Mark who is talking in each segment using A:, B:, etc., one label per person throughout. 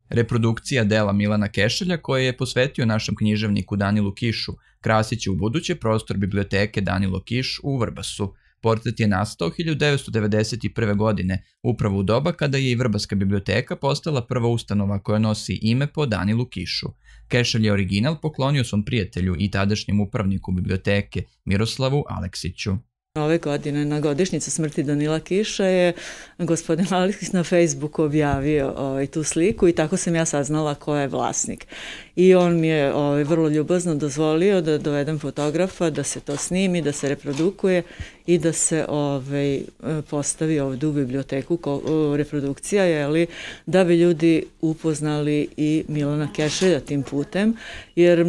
A: Reprodukcija dela Milana Kešelja, koje je posvetio našem književniku Danilu Kišu, krasit će ubuduće prostor biblioteke Danilo Kiš u Vrbasu. Portret je nastao 1991. godine, upravo u doba kada je i Vrbaska biblioteka postala prva ustanova koja nosi ime po Danilu Kišu. Kešelj je original poklonio svom prijatelju i tadašnjem upravniku biblioteke Miroslavu Aleksiću.
B: Ove godine na godišnjicu smrti Danila Kiša je gospodin Aleksić na Facebooku objavio tu sliku i tako sam ja saznala ko je vlasnik. I on mi je vrlo ljubazno dozvolio da dovedem fotografa, da se to snimi, da se reprodukuje i da se postavi ovdje u biblioteku reprodukcija, da bi ljudi upoznali i Milana Kešelja tim putem, jer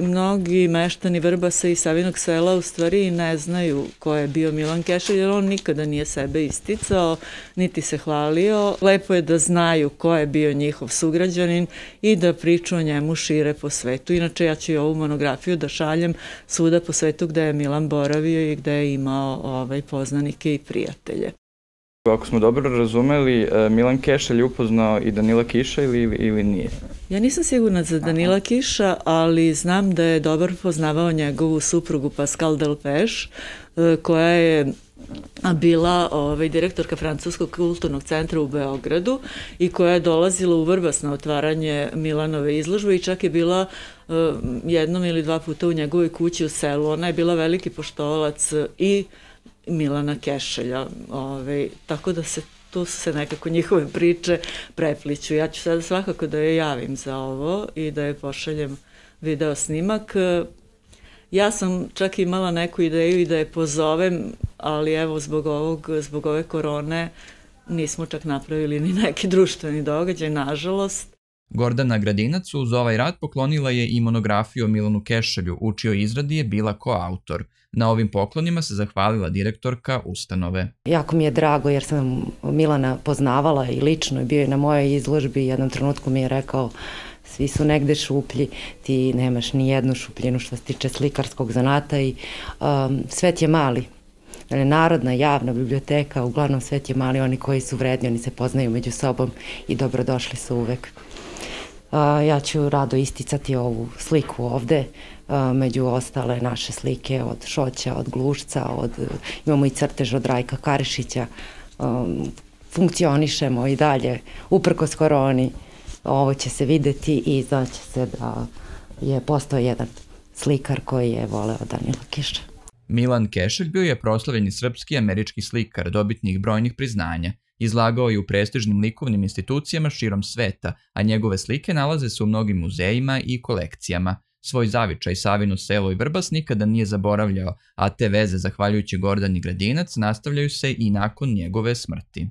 B: mnogi meštani Vrbasa i Savinog sela u stvari ne znaju ko je bio Milan Kešelj, jer on nikada nije sebe isticao, niti se hvalio. Lepo je da znaju ko je bio njihov sugrađanin i da priču o njemu šire po svetu. Inače, ja ću i ovu monografiju da šaljem svuda po svetu gde je Milan boravio i gde je imao poznanike i prijatelje.
C: Ako smo dobro razumeli, Milan Kešelj je upoznao i Danila Kiša ili nije?
B: Ja nisam sigurna za Danila Kiša, ali znam da je dobro poznavao njegovu suprugu Pascal Delpech, koja je bila direktorka Francuskog kulturnog centra u Beogradu i koja je dolazila u Vrbas na otvaranje Milanove izložbe i čak je bila jednom ili dva puta u njegovoj kući u selu. Ona je bila veliki poštovalac i Milana Kešelja, tako da tu se nekako njihove priče prepliću. Ja ću sada svakako da je javim za ovo i da je pošaljem video snimak. Ja sam čak imala neku ideju i da je pozovem, ali evo zbog ove korone nismo čak napravili ni neki društveni događaj, nažalost.
A: Gordana Gradinac uz ovaj rad poklonila je i monografiju o Milanu Kešelju, u čijoj izradi je bila koautor. Na ovim poklonima se zahvalila direktorka ustanove.
D: Jako mi je drago jer sam Milana poznavala i lično, bio je na mojoj izložbi, jednom trenutku mi je rekao: svi su negde šuplji, ti nemaš ni jednu šupljinu što se tiče slikarskog zanata i svet je mali. Narodna, javna biblioteka, uglavnom svet je mali, oni koji su vredni, oni se poznaju među sobom i dobrodošli su uvek. Ja ću rado isticati ovu sliku ovde, među ostale naše slike od Šoća, od Glušca, imamo i crtež od Rajka Karišića, funkcionišemo i dalje, uprkos koroni. Ovo će se videti i znaće se da je postao jedan slikar koji je voleo Danila Kiša.
A: Milan Kešelj bio je proslavljeni srpski američki slikar, dobitnik brojnih priznanja. Izlagao je u prestižnim likovnim institucijama širom sveta, a njegove slike nalaze se u mnogim muzejima i kolekcijama. Svoj zavičaj Savino selo i Vrbas nikada nije zaboravljao, a te veze, zahvaljujući Gordani Gradinac, nastavljaju se i nakon njegove smrti.